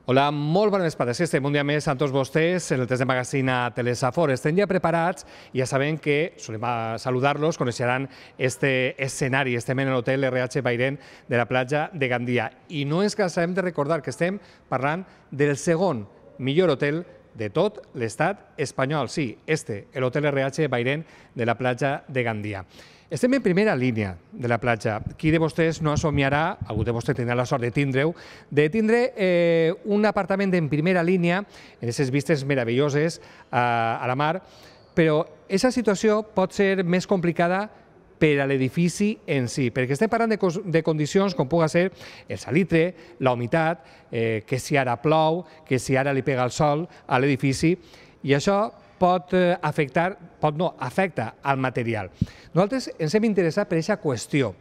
Hola, molt bona vesprada. Sí, estem un dia més amb tots vostès en el test de magazín a Telesafor. Estem ja preparats i ja sabem que solem saludar-los, coneixeran este escenari. Estem en l'hotel RH Bairén de la platja de Gandia. I no ens cansarem de recordar que estem parlant del segon millor hotel de tot l'estat espanyol. Sí, l'hotel RH Bairén de la platja de Gandia. Estem en primera línia de la platja. Qui de vostès no somiarà, algú de vostès tindrà la sort de tindre-ho, de tindre un apartament en primera línia, en aquestes vistes meravelloses a la mar, però aquesta situació pot ser més complicada per a l'edifici en si, perquè estem parlant de condicions com pugui ser el salitre, la humitat, que si ara plou, que si ara li pega el sol a l'edifici, i això afecta al material. Nosaltres ens hem interessat per aquesta qüestió,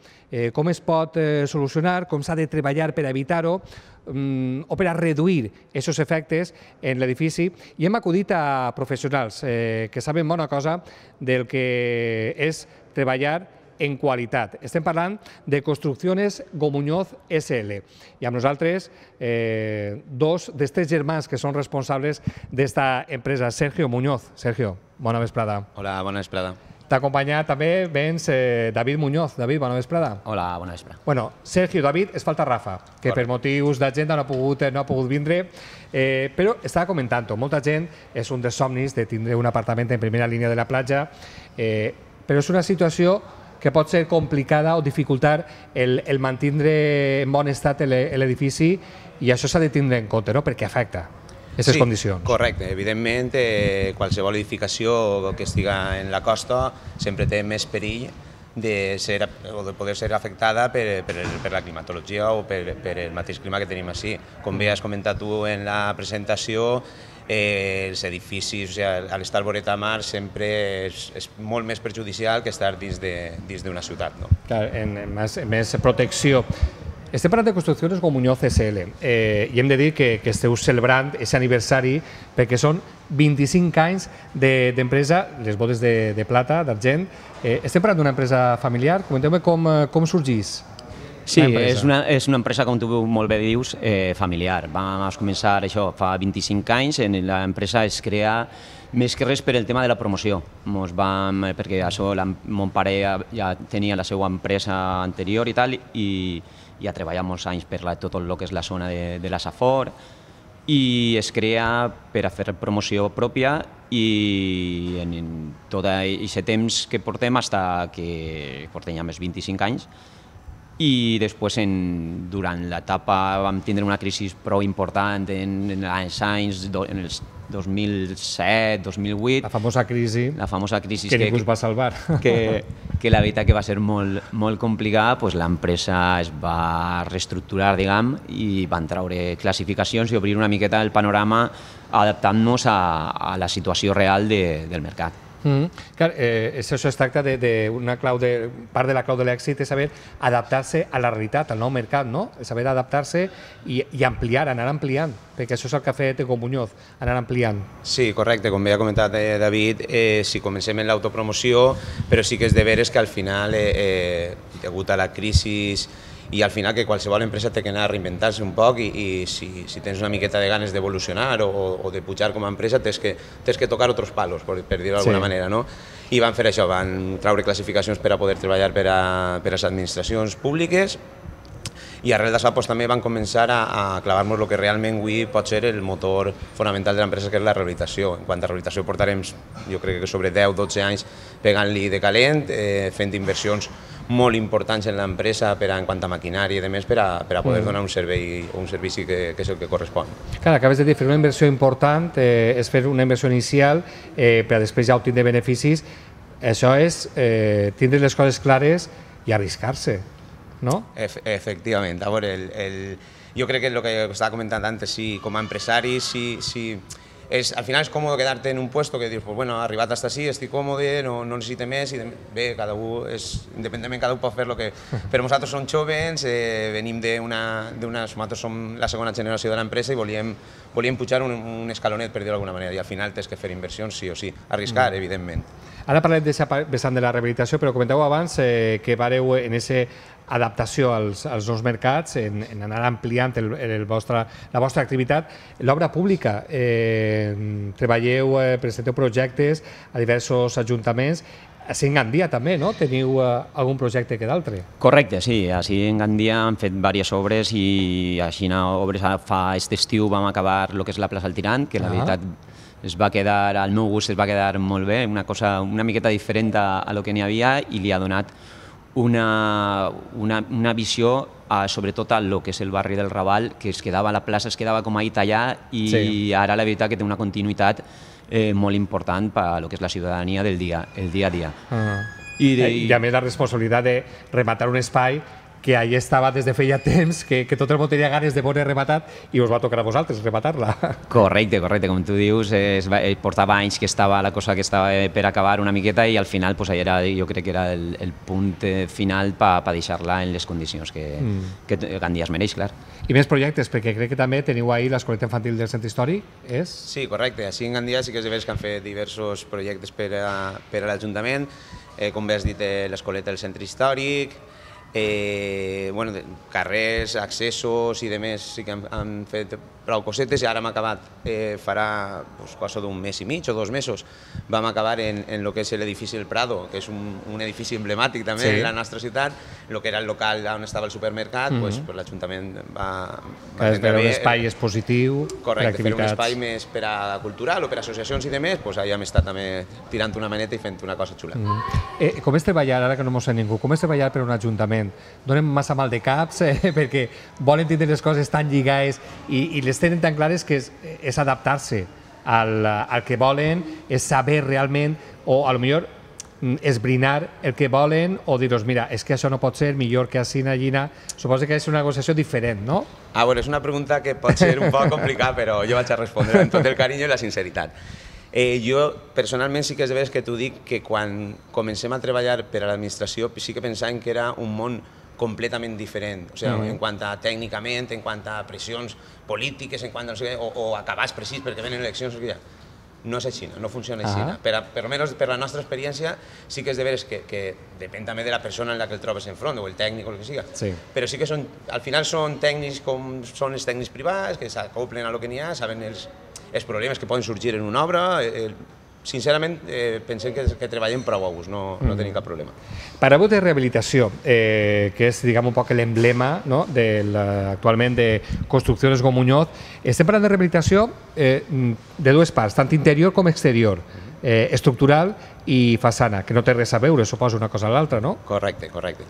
com es pot solucionar, com s'ha de treballar per evitar-ho o per a reduir aquests efectes en l'edifici, i hem acudit a professionals que saben bona cosa del que és treballar en qualitat. Estem parlant de Construcciones Gomuñoz SL. I amb nosaltres dos d'aquests germans que són responsables d'esta empresa. Sergio Muñoz. Sergio, bona vesprada. Hola, bona vesprada. T'acompanya també vens David Muñoz. David, bona vesprada. Hola, bona vesprada. Bueno, Sergio, David, es falta Rafa, que per motius d'agenda no ha pogut vindre, però estava comentant-ho. Molta gent és un dels somnis de tindre un apartament en primera línia de la platja, però és una situació que pot ser complicada o dificultar el mantindre en bon estat l'edifici, i això s'ha de tindre en compte, no?, perquè afecta aquestes condicions. Correcte. Evidentment, qualsevol edificació que estiga en la costa sempre té més perill de poder ser afectada per la climatologia o per el mateix clima que tenim així. Com bé has comentat tu en la presentació, els edificis, a l'estar voreta a mar sempre és molt més perjudicial que estar dins d'una ciutat. Més protecció. Estem parlant de Construcciones Gomuñoz SL i hem de dir que esteu celebrant aquest aniversari perquè són 25 anys d'empresa, les bodes de plata, d'argent. Estem parlant d'una empresa familiar. Comenteu-me com sorgís. Sí, és una empresa, com tu molt bé dius, familiar. Vam començar això fa 25 anys. L'empresa es crea més que res per el tema de la promoció. Perquè mon pare ja tenia la seva empresa anterior i tal, i ja treballa molts anys per tot el que és la zona de la Safor, i es crea per a fer promoció pròpia, i en tot aquest temps que portem, fins que portem ja més 25 anys, i després durant l'etapa vam tindre una crisi prou important en els anys 2007, 2008. La famosa crisi que ningú es va salvar. Que la veritat que va ser molt complicada. L'empresa es va reestructurar, diguem, i van treure classificacions i obrir una miqueta el panorama adaptant-nos a la situació real del mercat. Clar, això es tracta d'una clau, part de la clau de l'èxit és saber adaptar-se a la realitat, al nou mercat, no? Saber adaptar-se i ampliar, anar ampliant, perquè això és el que ha fet Gomuñoz, anar ampliant. Sí, correcte, com bé ha comentat David, sí, comencem en l'autopromoció, però sí que és de veres que al final, degut a la crisi, i al final que qualsevol empresa té que anar a reinventar-se un poc, i si tens una miqueta de ganes d'evolucionar o de pujar com a empresa, tens que tocar altres palos, per dir-ho d'alguna manera, no? I van fer això, van treure classificacions per a poder treballar per a les administracions públiques, i arrel d'això també van començar a clavar-nos el que realment avui pot ser el motor fonamental de l'empresa, que és la rehabilitació. En quant a rehabilitació portarem, jo crec que sobre 10-12 anys pegant-li de calent, fent inversions molt importants en l'empresa en quant a maquinària i demés per a poder donar un servei o un servici que és el que correspon. Clar, acabes de dir, fer una inversió important és fer una inversió inicial per a després ja obtenir beneficis. Això és tindre les coses clares i arriscar-se, no? Efectivament. A veure, jo crec que el que estava comentant antes, com a empresari, al final és còmode quedar-te en un puesto que dius, bueno, arribat fins ací, estic còmode, no necessito més, i bé, independentment cada un pot fer el que... Però nosaltres som jóvens, venim nosaltres som la segona generació de l'empresa i volíem pujar un escalonet, per dir-ho d'alguna manera, i al final tens que fer inversions sí o sí, arriscar, evidentment. Ara parlem d'aquest vessant de la rehabilitació, però comenteu abans que vareu en aquesta adaptació als nous mercats, en anar ampliant la vostra activitat. L'obra pública, treballeu, presenteu projectes a diversos ajuntaments. Així en Gandia també, no? Teniu algun projecte que d'altre? Correcte, sí. Així en Gandia han fet diverses obres i així obres fa aquest estiu vam acabar el que és la plaça del Tirant, que la veritat es va quedar, al meu gust es va quedar molt bé, una cosa una miqueta diferent a lo que n'hi havia i li ha donat una visió sobretot a lo que és el barri del Raval, que la plaça es quedava com ahí tallar i ara la veritat que té una continuïtat molt important per a lo que és la ciutadania del dia a dia. I a més la responsabilitat de rematar un espai que allà estava des de feia temps, que tot el món tenia ganes de veure rematat i us va tocar a vosaltres rematar-la. Correcte, com tu dius, portava anys que estava la cosa que estava per acabar una miqueta i al final jo crec que era el punt final per deixar-la en les condicions que Gandia es mereix, clar. I més projectes, perquè crec que també teniu ahir l'escoleta infantil del Centre Històric, és? Sí, correcte. Així en Gandia sí que és de veres que han fet diversos projectes per a l'Ajuntament, com bé has dit, l'escoleta del Centre Històric, carrers, accessos i demés sí que han fet prou cosetes i ara hem acabat, farà cosa d'un mes i mig o 2 mesos, vam acabar en el que és l'edifici del Prado, que és un edifici emblemàtic també de la nostra ciutat, el que era el local on estava el supermercat, l'Ajuntament va prendre un espai expositiu, correcte, fer un espai més per a cultural o per a associacions i demés, ahí hem estat també tirant una maneta i fent una cosa xula. Com és treballar, ara que no m'ho sé ningú, com és treballar per un ajuntament? Donen massa mal de caps perquè volen tindre les coses tan lligades i les tenen tan clares que és adaptar-se al que volen, és saber realment, o potser esbrinar el que volen o dir-los, mira, és que això no pot ser, millor que així, allina. Suposo que és una negociació diferent, no? Bueno, és una pregunta que pot ser un poc complicada, però jo vaig a respondre amb tot el carinyo i la sinceritat. Jo, personalment, sí que és de veres que t'ho dic que quan comencem a treballar per a l'administració sí que pensàvem que era un món completament diferent, o sigui, en quant a tècnicament, en quant a pressions polítiques, en quant a o acabats precís perquè venen eleccions, no és així, no funciona així. Per almenys per la nostra experiència sí que és de veres que depèn també de la persona en la que el trobes enfront, o el tècnic o el que sigui, però sí que al final són tècnics com són els tècnics privats, que s'acoplen a lo que n'hi ha, saben els problemes que poden sorgir en una obra. Sincerament, pensem que treballem prou a gust, no tenim cap problema. Parleu de rehabilitació, que és, diguem, un poc l'emblema actualment de Construcciones Gómez Muñoz. Estem parlant de rehabilitació de dues parts, tant interior com exterior, estructural i façana, que no té res a veure, suposo, una cosa a l'altra, no? Correcte, correcte.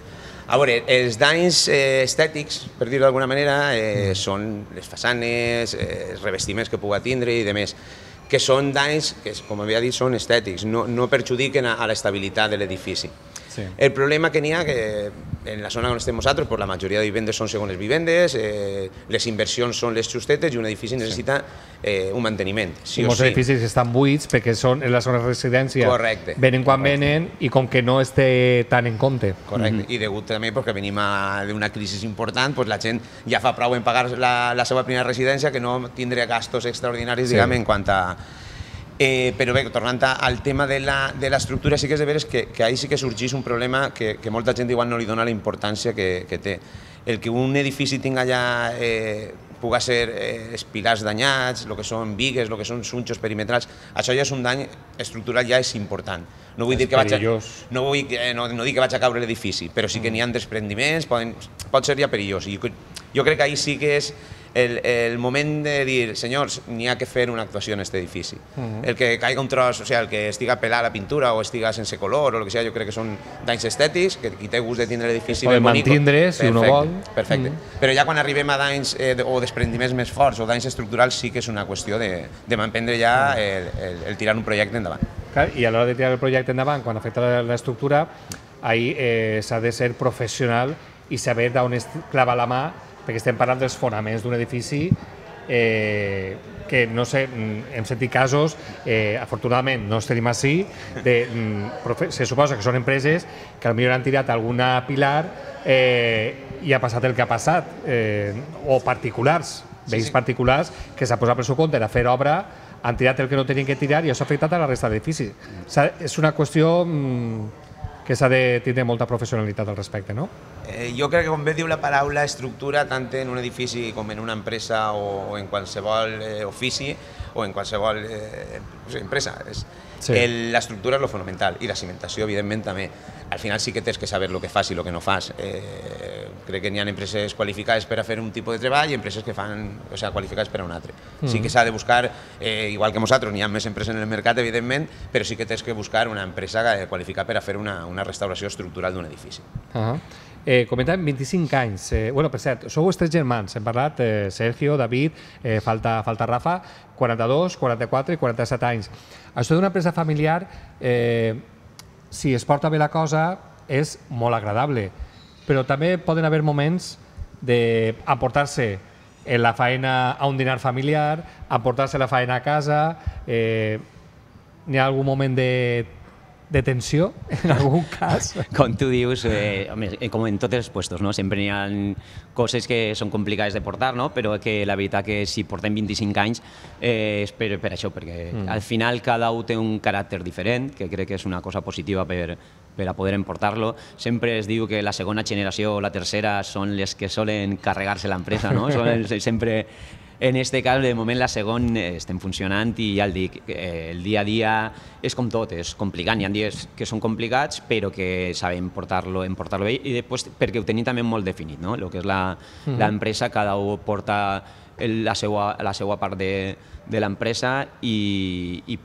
A veure, els danys estètics, per dir-ho d'alguna manera, són les façanes, els revestiments que pugui tindre i demés, que són danys que, com havia dit, són estètics, no perjudiquen a l'estabilitat de l'edifici. El problema que n'hi ha, que en la zona on estem nosaltres, la majoria de vivendes són segones vivendes, les inversions són les justetes i un edifici necessita un manteniment. Molts edificis estan buits perquè són en la zona de residència, venen quan venen i com que no es té tant en compte. Correcte, i degut també perquè venim d'una crisi important, la gent ja fa prou en pagar la seva primera residència que no tindrà gastos extraordinaris, diguem, en quant a... Però bé, tornant al tema de l'estructura, sí que és de veres que ahí sí que sorgeix un problema que molta gent igual no li dona la importància que té. El que un edifici tinga allà pugui ser els pilars danyats, el que són bigues, el que són sunxos perimetrals, això ja és un dany estructural, ja és important. No vull dir que vaig a caure l'edifici, però sí que n'hi ha desprendiments, pot ser ja perillós. Jo crec que ahí sí que és el moment de dir, senyors, n'hi ha que fer una actuació en aquest edifici. El que caiga un tros, o sigui, el que estiga pelat la pintura o estiga sense color o el que sigui, jo crec que són danys estètics, que qui té gust de tindre l'edifici ben bonic... Poden mantindre, si uno vol. Perfecte. Però ja quan arribem a danys o desprendiments més forts o danys estructurals sí que és una qüestió de m'emprendre ja el tirar un projecte endavant. I a l'hora de tirar el projecte endavant, quan afecta l'estructura, ahí s'ha de ser professional i saber d'on es clava la mà, perquè estem parlant dels fonaments d'un edifici que, no sé, hem sentit casos, afortunadament no els tenim així, se suposa que són empreses que potser han tirat alguna pilar i ha passat el que ha passat, o particulars, veïns particulars, que s'ha posat per su compte a fer obra han tirat el que no tenien que tirar i això ha afectat a la resta d'edificis. És una qüestió que s'ha de tindre molta professionalitat al respecte, no? Jo crec que, com bé diu la paraula estructura, tant en un edifici com en una empresa o en qualsevol ofici o en qualsevol empresa, l'estructura és lo fonamental i la cimentació, evidentment, també. Al final sí que tens que saber el que fas i el que no fas. Crec que n'hi ha empreses qualificades per a fer un tipus de treball i empreses que fan, o sigui, qualificades per a un altre. Sí que s'ha de buscar, igual que nosaltres, n'hi ha més empreses en el mercat, evidentment, però sí que tens que buscar una empresa qualificada per a fer una restauració estructural d'un edifici. Comentàvem 25 anys. Bueno, per cert, sou els 3 germans. Hem parlat Sergio, David, falta Rafa, 42, 44 i 47 anys. Això d'una empresa familiar, si es porta bé la cosa, és molt agradable, però també poden haver moments d'emportar-se la feina a un dinar familiar, emportar-se la feina a casa. N'hi ha algun moment de tensió, en algun cas? Com tu dius, com en tots els puestos, no? Sempre hi ha coses que són complicades de portar, no? Però que la veritat que si portem 25 anys és per això, perquè al final cada un té un caràcter diferent, que crec que és una cosa positiva per a poder emportar-lo. Sempre es diu que la segona generació o la tercera són les que solen carregar-se l'empresa, no? Sempre... En aquest cas, de moment, la segona estem funcionant i ja el dic, el dia a dia és com tot, és complicat. Hi ha dies que són complicats, però que sabem portar-lo bé i després perquè ho tenim també molt definit, no? El que és l'empresa, cada un porta la seva part de l'empresa i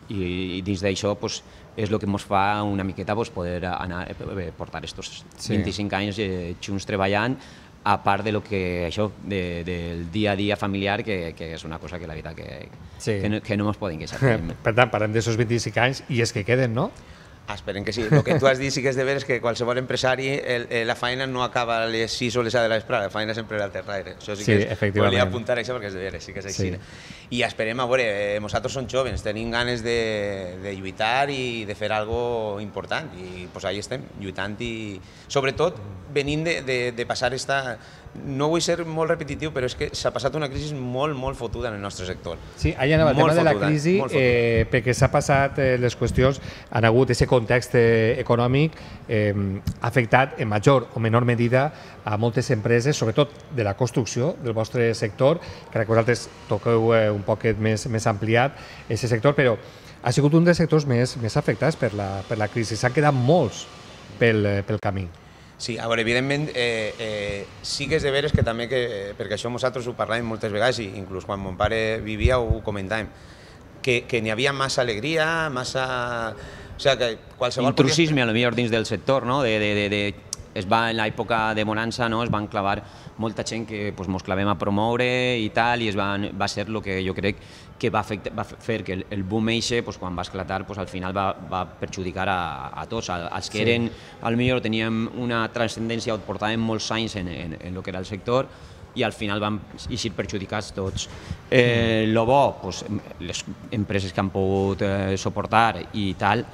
dins d'això és el que ens fa una miqueta poder portar aquests 25 anys junts treballant, a part de lo que això del dia a dia familiar, que és una cosa que la veritat que no ens podem queixar. Per tant, parlem d'aquests 25 anys i és que queden, no? Esperem que sí. El que tu has dit sí que és de veres que qualsevol empresari, la feina no acaba a les 6 o les 7 de l'espera, la feina sempre és al terraire. Això sí que volia apuntar això perquè és de veres, sí que és així. I esperem, a veure, nosaltres som joves, tenim ganes de lluitar i de fer alguna important i allà estem, lluitant i sobretot venint de passar esta... No vull ser molt repetitiu, però és que s'ha passat una crisi molt, molt fotuda en el nostre sector. Sí, allà anava el tema de la crisi, perquè s'ha passat les qüestions, han hagut aquest context econòmic, ha afectat en major o menor medida a moltes empreses, sobretot de la construcció del vostre sector, crec que vosaltres toqueu un poquet més ampliat aquest sector, però ha sigut un dels sectors més afectats per la crisi. S'han quedat molts pel camí. Sí, a veure, evidentment, sí que és de veres que també, perquè això nosaltres ho parlàvem moltes vegades i inclús quan mon pare vivia ho comentàvem, que n'hi havia massa alegria, massa... O sigui, que qualsevol... Intrusisme, potser dins del sector, no? En l'època de bonança es van clavar molta gent que ens clavem a promoure i tal, i va ser el que jo crec que va fer que el boom eixe, quan va esclatar, al final va perjudicar a tots. Els que eren, potser teníem una transcendència o portàvem molts anys en el que era el sector, i al final van eixir perjudicats tots. Lo bo, les empreses que han pogut suportar i tal,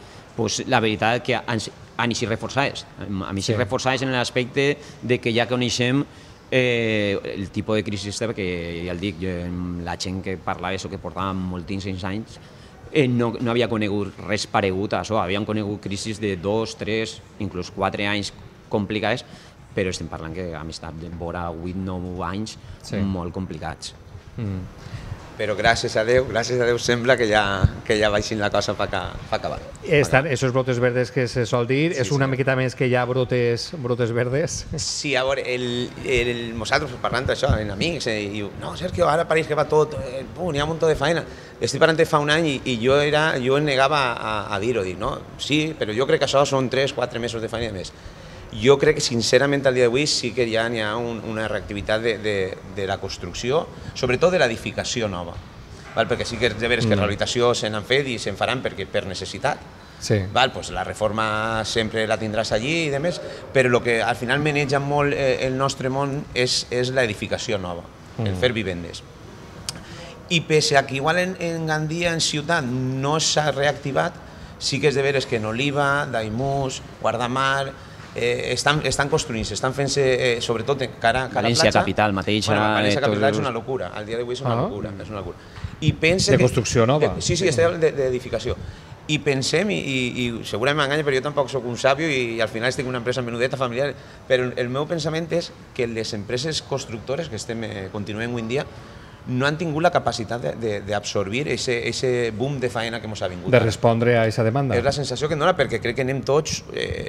la veritat que han eixit reforçades. Han eixit reforçades en l'aspecte que ja coneixem el tipus de crisi, perquè ja el dic, la gent que parlava o que portava moltíssims anys no havia conegut res paregut a això, havien conegut crisis de 2, 3, inclús 4 anys complicades, però estem parlant que hem estat vora 8, 9 anys molt complicats. Però gràcies a Déu sembla que ja baixin la cosa per acabar. Estan esos brotes verdes que se sol dir, és una miqueta més que hi ha brotes verdes? Sí, a veure, nosaltres parlant d'això, en amics, i diu, no, Sergio, ara pareix que va tot, n'hi ha un munt de feina. Estic parlant de fa un any i jo em negava a dir-ho, dic, no, sí, però jo crec que això són 3-4 mesos de feina més. Jo crec que, sincerament, al dia d'avui sí que ja n'hi ha una reactivitat de la construcció, sobretot de l'edificació nova, perquè sí que és de veres que rehabilitació se n'han fet i se'n faran per necessitat. La reforma sempre la tindràs allí i demés, però el que al final maneja molt el nostre món és l'edificació nova, el fer vivendes. I pese a que igual en Gandia, en ciutat, no s'ha reactivat, sí que és de veres que en Oliva, Daimús, Guardamar, estan construint-se, estan fent-se, sobretot cara a la platja. València capital mateixa. València capital és una locura, al dia d'avui és una locura. I pense de construcció nova. Sí, estem d'edificació. I pensem, i segurament m'enganya, però jo tampoc sóc un sàvio i al final estic en una empresa menudeta, familiar, però el meu pensament és que les empreses constructores que continuem avui en dia no han tingut la capacitat d'absorbir ese boom de faena que ens ha vingut. De respondre a aquesta demanda. És la sensació que em dona, perquè crec que anem tots,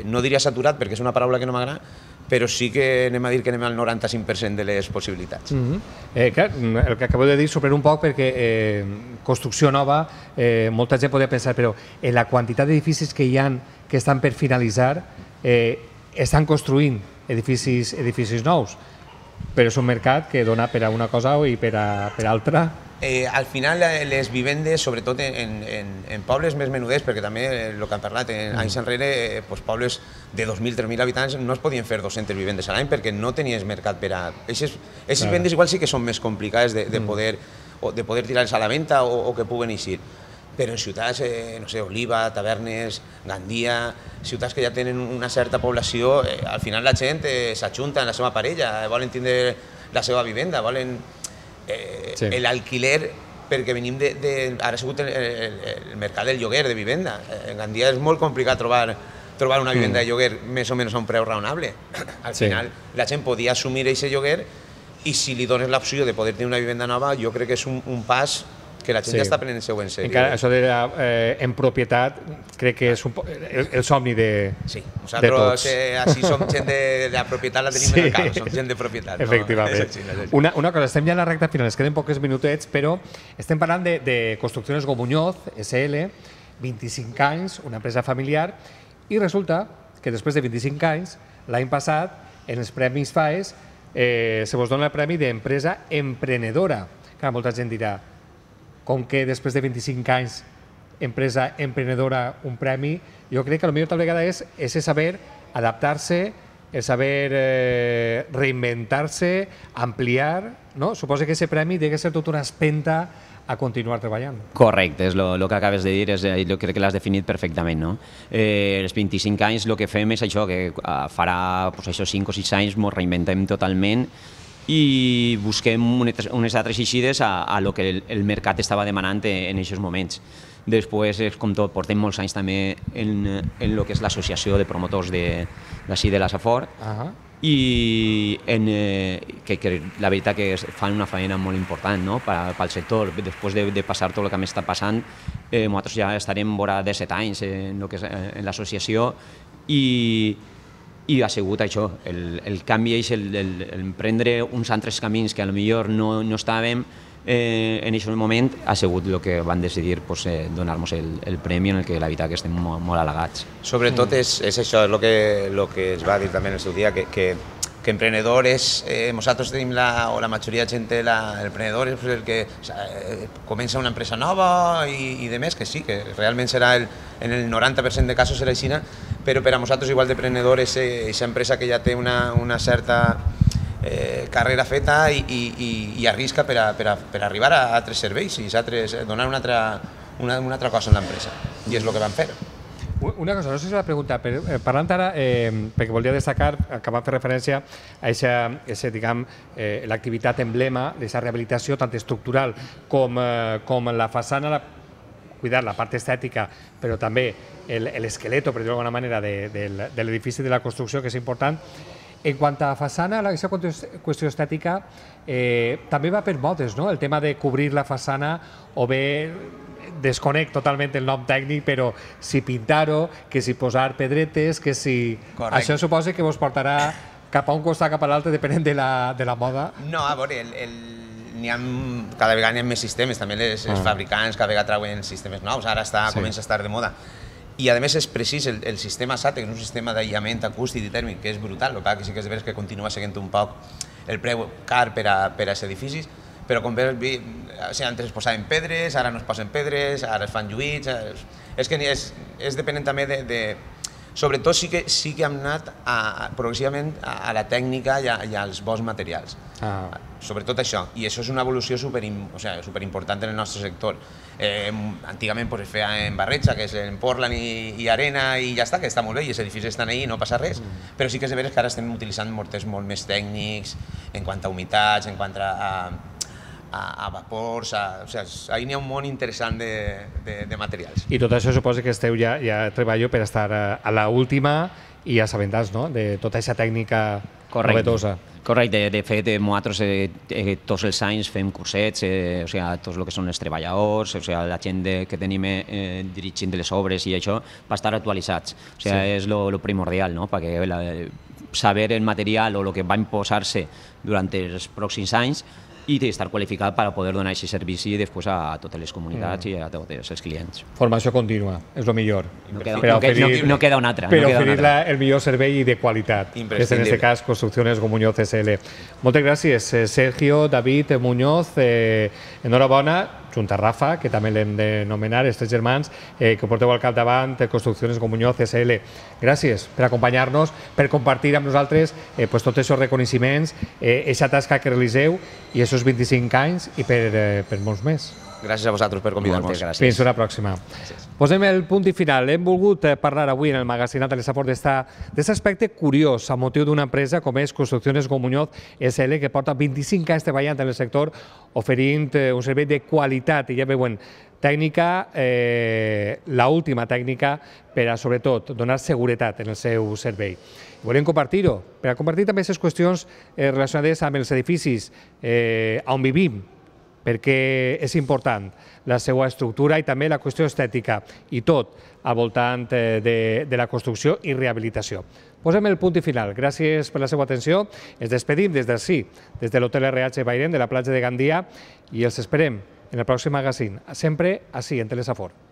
no diria saturat, perquè és una paraula que no m'agrada, però sí que anem a dir que anem al 95% de les possibilitats. Clar, el que acabo de dir sorprèn un poc perquè construcció nova, molta gent podria pensar, però en la quantitat d'edificis que hi ha que estan per finalitzar, estan construint edificis nous, però és un mercat que dona per a una cosa i per a altra. Al final les vivendes, sobretot en pobles més menuders, perquè també el que han parlat, anys enrere, pobles de 2.000, 3.000 habitants no es podien fer 200 vivendes a l'any perquè no tenies mercat per a... Aquestes vivendes igual sí que són més complicades de poder tirar-les a la venda o que puguen eixir. Però en ciutats, no sé, Oliva, Tavernes, Gandia, ciutats que ja tenen una certa població, al final la gent s'ajunta en la seva parella, volen tindre la seva vivenda, volen l'alquiler, perquè venim ara ha sigut el mercat del lloguer de vivenda. En Gandia és molt complicat trobar una vivenda de lloguer més o menys a un preu raonable. Al final la gent podia assumir aquest lloguer i si li dones l'opció de poder tenir una vivenda nova, jo crec que és un pas que la gent ja està prenent-se en sèrio. Encara això en propietat crec que és el somni de tots. Sí, nosaltres així som gent de la propietat, la tenim en el cap, som gent de propietat. Efectivament. Una cosa, estem ja a la recta final, ens queden poques minutets, però estem parlant de Construcciones Gomuñoz, SL, 25 anys, una empresa familiar, i resulta que després de 25 anys, l'any passat, en els Premis FAES, se vos dona el Premi d'Empresa Emprenedora. Clar, molta gent dirà, com que després de 25 anys empresa emprenedora un premi, jo crec que potser tal vegada és ese saber adaptar-se, el saber reinventar-se, ampliar, no? Suposo que ese premi ha de ser tota una espenta a continuar treballant. Correcte, és el que acabes de dir, jo crec que l'has definit perfectament. No? Els 25 anys el que fem és això, que farà 5 o 6 anys ens reinventem totalment i busquem unes altres eixides a lo que el mercat estava demanant en aquests moments. Després, com tot, portem molts anys també en el que és l'associació de promotors d'ací de la Safor i que la veritat que fan una feina molt important pel sector. Després de passar tot el que m'està passant, nosaltres ja estarem vora 17 anys en l'associació i ha sigut això, el canvi és el prendre uns altres camins que potser no estàvem en aquest moment, ha sigut el que van decidir donar-nos el premi en el que la veritat que estem molt halagats. Sobretot és això, és el que es va dir també en el seu dia, que emprenedor és, nosaltres tenim o la majoria de gent l'emprenedor és el que comença una empresa nova i de més, que sí, que realment serà en el 90% de casos serà així, però per a nosaltres igual d'emprenedor és aquesta empresa que ja té una certa carrera feta i arrisca per arribar a altres serveis i donar una altra cosa a l'empresa, i és el que vam fer. Una cosa, no sé si la pregunta, parlant ara, perquè volia destacar, que vam fer referència a l'activitat emblema d'aquesta rehabilitació tant estructural com la façana, cuidar la part estètica, però també l'esqueleto, per dir-ho d'alguna manera, de l'edifici de la construcció, que és important. En quant a façana, aquesta qüestió estètica també va per modes, no? El tema de cobrir la façana o bé desconec totalment el nom tècnic, però si pintar-ho, que si posar pedretes, que si... Això suposa que vos portarà cap a un costat, cap a l'altre, depenent de la moda? No, a veure, cada vegada n'hi ha més sistemes, també els fabricants cada vegada trauen sistemes nous, ara comença a estar de moda. I a més és precís, el sistema SATE, que és un sistema d'aïllament acústic i tèrmic, que és brutal, el que sí que és de veres que continua seguint un poc el preu car per a aquests edificis, però com veus, antes es posaven pedres, ara no es posen pedres, ara es fan lluïts, és que és depenent també de... Sobretot sí que hem anat progressivament a la tècnica i als bons materials, sobretot això, i això és una evolució superimportant en el nostre sector. Antigament es feia en barreja, que és en Portland i arena i ja està, que està molt bé, i els edificis estan ahí i no passa res, però sí que és de veres que ara estem utilitzant morters molt més tècnics en quant a humitats, en quant a a vapors, o sigui, ahí n'hi ha un món interessant de materials. I tot això suposa que esteu ja treballo per estar a l'última i assabentats, no?, de tota aquesta tècnica novetosa. Correcte, de fet, nosaltres tots els anys fem cursets, o sigui, tots el que són els treballadors, o sigui, la gent que tenim dirigint les obres i això, per estar actualitzats. O sigui, és el primordial, no?, perquè saber el material o el que va imposar-se durant els pròxims anys i estar qualificat per poder donar aquest servici després a totes les comunitats i a tots els clients. Formació contínua, és el millor. No queda una altra. Per oferir el millor servei i de qualitat, que és en aquest cas Construcciones Muñoz SL. Moltes gràcies, Sergio, David, Muñoz, enhorabona, junt a Rafa, que també l'hem d'anomenar, els tres germans que porteu al capdavant Construcciones Muñoz SL. Gràcies per acompanyar-nos, per compartir amb nosaltres tots aquests reconeixements, aquesta tasca que realitzeu i aquests 25 anys i per molts més. Gràcies a vosaltres per convidar-nos. Fins una pròxima. Posem el punt i final. Hem volgut parlar avui en el magazinat de l'Esaport d'aquest aspecte curiós a motiu d'una empresa com és Construcciones Muñoz SL, que porta 25 anys treballant en el sector oferint un servei de qualitat i ja veuen tècnica, l'última tècnica per a, sobretot, donar seguretat en el seu servei. Volem compartir-ho, per a compartir també aquestes qüestions relacionades amb els edificis on vivim, perquè és important la seva estructura i també la qüestió estètica i tot al voltant de la construcció i rehabilitació. Posem el punt i final. Gràcies per la seva atenció. Ens despedim des d'ací, des de l'Hotel RH Bairén, de la platja de Gandia, i els esperem en el pròxim magazín, sempre ací, en Telesafort.